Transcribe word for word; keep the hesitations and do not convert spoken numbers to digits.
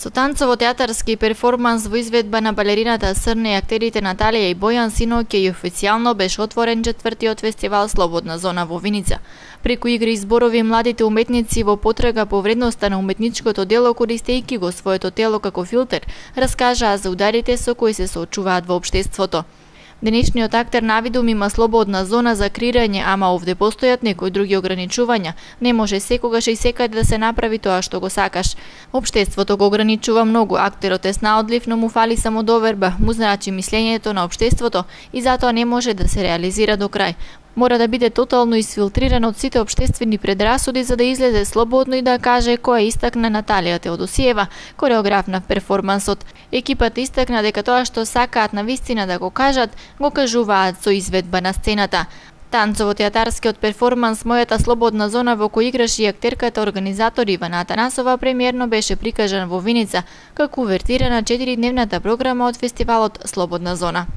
Со танцово-театарски перформанс во изведба на балерината Срне и актерите Наталија и Бојан синоќа и официјално беше отворен четвртиот фестивал Слободна зона во Виница. Преку игри и зборови младите уметници во потрага по вредноста на уметничкото дело, користејќи го своето тело како филтер, раскажаа за ударите со кои се соочуваат во општеството. Денешниот актер навидум има слободна зона за креирање, ама овде постојат некои други ограничувања. Не може секогаш и секаде да се направи тоа што го сакаш. Општеството го ограничува многу, актерот е снаодлив, но му фали самодоверба, му значи мислењето на општеството и затоа не може да се реализира до крај. Мора да биде тотално исфилтриран од сите општествени предрасуди за да излезе слободно и да каже кој истакна Наталија Теодосиева, кореограф на перформансот. Екипата истакна дека тоа што сакаат на вистина да го кажат, го кажуваат со изведба на сцената. Танцово-театарскиот перформанс Мојата слободна зона, во кој играше и актерката организатор Ивана Атанасова, премиерно беше прикажан во Виница како увертира на четиридневната програма од фестивалот Слободна зона.